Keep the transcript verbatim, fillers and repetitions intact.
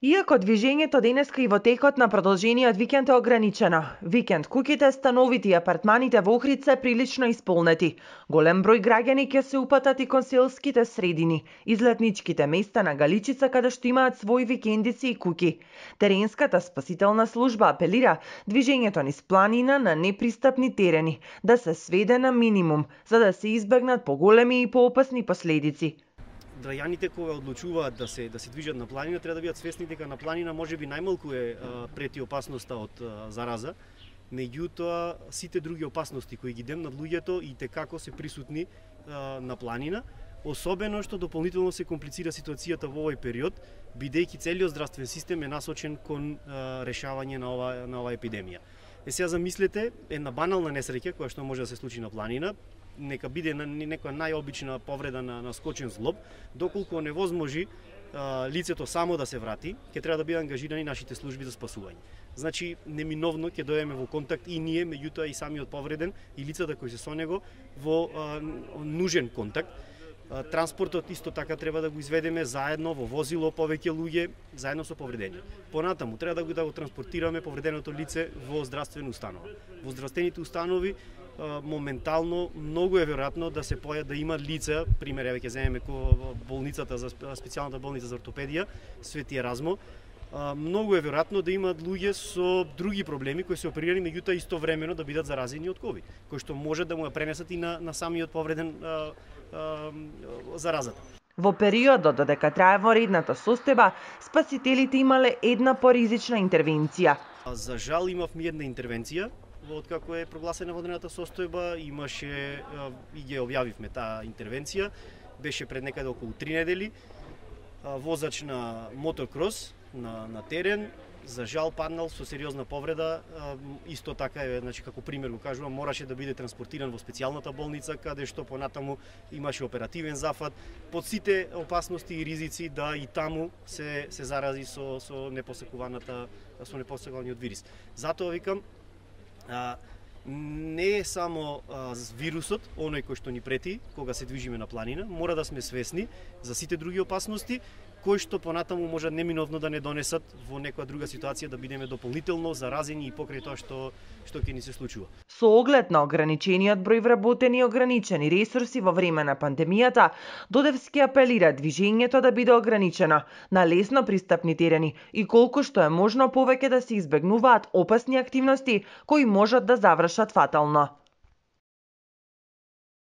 Иако движењето денеска и во текот на продолжениот викенд е ограничено, викенд куќите, становите и апартманите во Охрид се прилично исполнети. Голем број граѓани ќе се упатат и кон селските средини, излетничките места на Галичица каде што имаат своји викендици и куќи. Теренската спасителна служба апелира движењето низ планина на непристапни терени да се сведе на минимум, за да се избегнат поголеми и поопасни последици. Граѓаните кога одлучуваат да се да се движат на планина треба да бидат свесни дека на планина можеби најмалку е а, прети опасноста од а, зараза, меѓутоа сите други опасности кои ги демнат луѓето и текако се присутни а, на планина, особено што дополнително се комплицира ситуацијата во овој период, бидејќи целиот здравствен систем е насочен кон а, решавање на ова на оваа епидемија. Е сега замислете една банална несреќа која што може да се случи на планина, нека биде на некоја најобична повреда на, на скочен зглоб, доколку невозможи а, лицето само да се врати, ќе треба да бидат ангажирани нашите служби за спасување. Значи, неминовно ќе дојдеме во контакт и ние, меѓутоа и самиот повреден и лицата кои се со него во а, нужен контакт. А, транспортот исто така треба да го изведеме заедно во возило, повеќе луѓе, заедно со повредени. Понатаму треба да го да го транспортираме повреденото лице во здравствена установа. Во здравствените установи моментално многу е веројатно да се поја да има лица, пример еве ќе земеме болницата за специјалната болница за ортопедија Свети Еразмо, многу е веројатно да имаат луѓе со други проблеми кои се оперирани, меѓутоа истовремено да бидат заразени од ковид, кои што може да му ја пренесат и на, на самиот повреден а, а, заразата. Во периодот додека трае воредната состојба, спасителите имале една поризична интервенција. За жал имавме една интервенција, откако е прогласена водената состојба, имаше и ги објавивме таа интервенција, беше пред некаде околу три недели, возач на мотокрос на, на терен, за жал паднал со сериозна повреда, исто така е, значи како пример го кажувам, мораше да биде транспортиран во специјалната болница, каде што понатаму имаше оперативен зафат, под сите опасности и ризици да и таму се се зарази со со непосекуваната со непосекуваниот вирус. Затоа викам, А, не е само а, вирусот, оној кој што ни прети кога се движиме на планина, мора да сме свесни за сите други опасности, кои што понатаму може неминовно да не донесат во некоја друга ситуација да бидеме дополнително заразени и покрај тоа што што ќе ни се случува. Со оглед на ограничениот број вработени и ограничени ресурси во време на пандемијата, Додевски апелира движењето да биде ограничено на лесно пристапни терени и колку што е можно повеќе да се избегнуваат опасни активности кои можат да завршат фатално.